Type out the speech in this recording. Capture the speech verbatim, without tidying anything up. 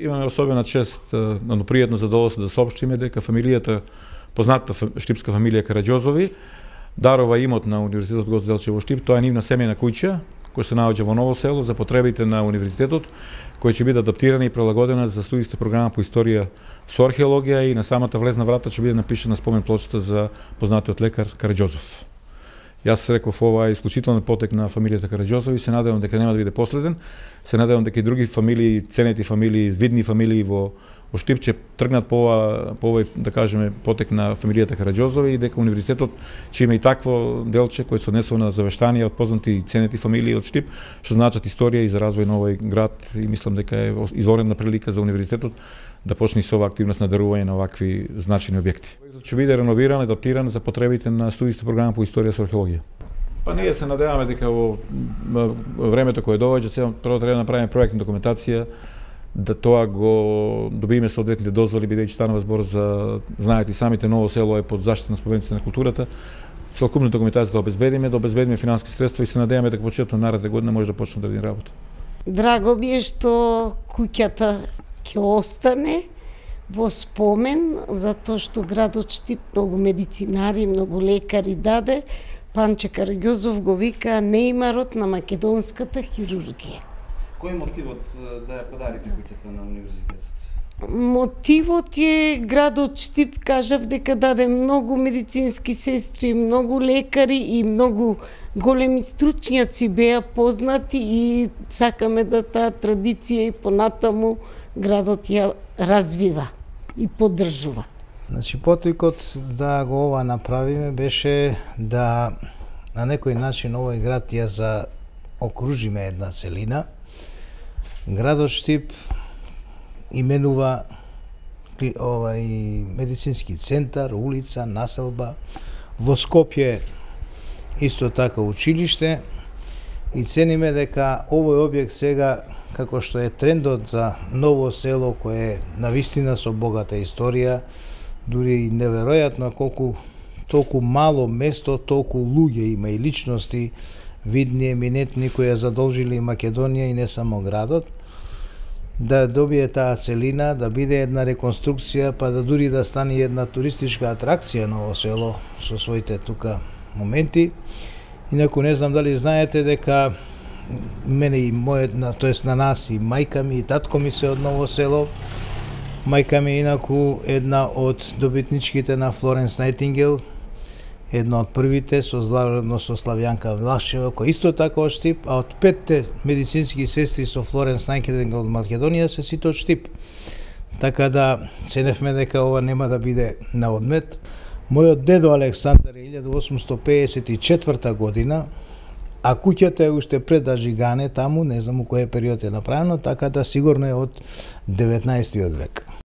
Имаме особена чест, но пријатно задоволство да соопштиме дека фамилијата, познатата штипска фамилија Караѓозови, дарова имот на Универзитетот Гоце Делчев во Штип. Тоа е нивна семејна куќа, која се наоѓа во Ново село за потребите на универзитетот, која ќе биде адаптирана и прилагодена за студијска програма по историја со археологија, и на самата влезна врата ќе биде напишана спомен плочата за познатиот лекар Караѓозов. Јас реков, ова е исклучителен потек на фамилијата Караѓозови, се надевам дека нема да биде последен. Се надевам дека и други фамилии, ценети фамилии, видни фамилии во во Штип ќе тргнат по ова, по овој, да кажеме, потек на фамилијата Караѓозови, и дека универзитетот ќе има и такво делче кој се однесува на завештанија од познати и ценети фамилии од Штип, што значат историја и за развој на овој град, и мислам дека е изворена прилика за универзитетот да почне со ова активност на дарување на овакви значајни објекти. Ќе биде реновиран, адаптиран за потребите на студијска програма по историја со археологија. Па ние се надеваме дека во времето кое доаѓа, прво треба да направиме проектна документација, да тоа го добиеме соодветните дозволи, бидејќи станува збор за, знаете и самите, Ново село е под заштита на спомениците на културата. Целокупна документација да обезбедиме, да обезбедиме финансиски средства, и се надеваме дека почетокот на наредна година може да почне да ради работа. Драго ми е што куќата ќе остане во спомен, затоа што градот Штип многу медицинари, многу лекари даде. Панче Караѓозов го вика нејмарот на македонската хирургија. Кој е мотивот да ја подарите куќата на универзитетот? Мотивот е градот Штип, кажав дека даде многу медицински сестри, многу лекари и многу големи стручњаци беа познати, и сакаме да таа традиција и понатаму градот ја развива и поддржува. Значи, потикот да го ова направиме беше да на некој начин овој град ја заокружиме една целина. Градот Штип именува овај медицински центар, улица, населба. Во Скопје исто така училиште, и цениме дека овој објект сега, како што е трендот за Ново село, кое е навистина со богата историја, дури и неверојатно колку толку мало место, толку луѓе има и личности, видни, еминентни, кои ја задолжили Македонија и не само градот, да добие таа целина, да биде една реконструкција, па да дури да стане една туристичка атракција Ново село со своите тука моменти. Инаку не знам дали знаете дека мене и мојот, тоест на нас, и мајка ми и татко ми се од Ново село. Мајка ми инаку една од добитничките на Флоренс Најтингел, една од првите, со заедно со Славјанка Влашева, кој исто така од Штип, а од петте медицински сестри со Флоренс Најтингел од Македонија се сите од Штип. Така да ценевме дека ова нема да биде на одмет. Мојот дедо Александар е илјада осумстотини пеесет и четврта година, а куќата е уште пред да жигане таму, не знам у кој период е направено, така да сигурно е од деветнаесеттиот век.